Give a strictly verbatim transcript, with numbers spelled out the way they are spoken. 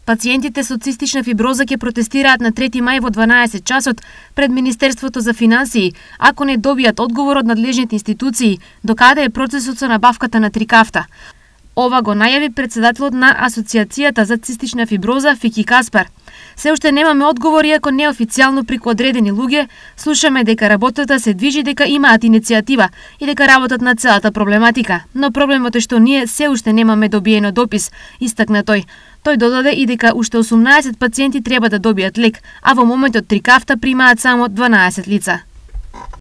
Пациентите со цистична фиброза ќе протестираат на трети мај во дванаесет часот пред Министерството за финансии, ако не добијат одговор од надлежните институции докаде е процесот со набавката на трикафта. Ова го најави председателот на Асоциацијата за цистична фиброза Фики Каспар. Се уште немаме одговор, иако неофицијално преку одредени луѓе слушаме дека работата се движи, дека имаат иницијатива и дека работат на целата проблематика. Но проблемот е што ние се уште немаме добиено допис, истакна тој. Тој додаде и дека уште осумнаесет пациенти треба да добијат лек, а во моментот трикафта примаат само дванаесет лица.